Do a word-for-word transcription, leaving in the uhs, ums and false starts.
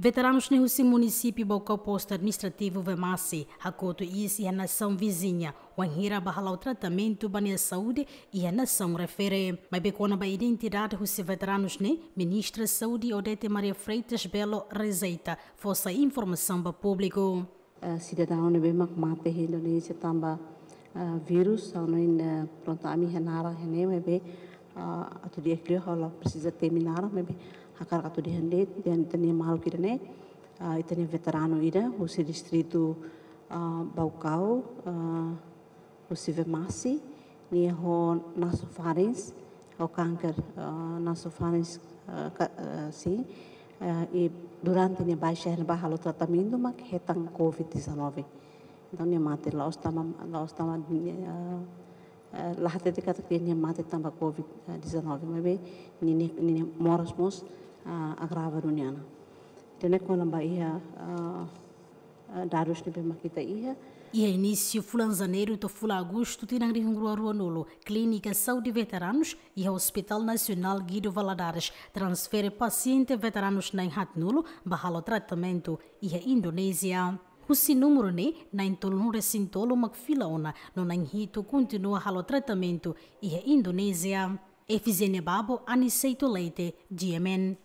Veteranus ne'e husi munisípiu Baucau, postu administrativu Vemasse, hakotu iis iha nasaun viziña, wainhira bá hala'o tratamentu ba nia saúde iha nasaun refere. Maibé kona-ba identidade husi veteranus ne'e, Ministra Saúde Odete Maria Freitas Belo rejeita fó sai informasaun ba públiku. Eh, sidadaun ne'ebé mak mate iha Indonézia tanba, eh, vírus, ha'u hanoin, eh, prontu, ami iha naran iha ne'e, maibé, eh, atu di'ak liu ha'u la presiza temi naran, maibé hakarak atu dehan de'it, dehan ita-nia maluk ida-ne'e, eh, ita-nia veteranu ida husi distritu, eh, Baucau, eh, husi Vemasse, nia ho nasofaringe, ho kanker, eh, nasofaringe, eh, ka-, eh, sin, eh, i durante nia baixa iha ne'ebá halo tratamentu mak hetan covid dezanove. Entaun nia mate, la'ós tanba, la'ós tanba, eh, eh, la hatete katak nia mate tanba covid dezanove, maibé nia, nia, nia moras mós, ah, agrava duni ona. Ida-ne'e kona-ba iha, ah, ah, dadus ne'ebé mak ita iha. Iha inísiu fulan Janeiru to'o fulan Agostu tinan rihun rua ruanulu, Klínika Saúde Veteranus iha Hospital Nasionál Guido Valadares transfere pasiente veteranus na'in haatnulu bá halo tratamentu iha Indonézia. Husi númeru ne'e, na'in tolunulu resin tolu mak fila ona, no na'in hitu kontinua halo tratamentu iha Indonézia. Efigénia Babo, Aniceto Leite, G M N.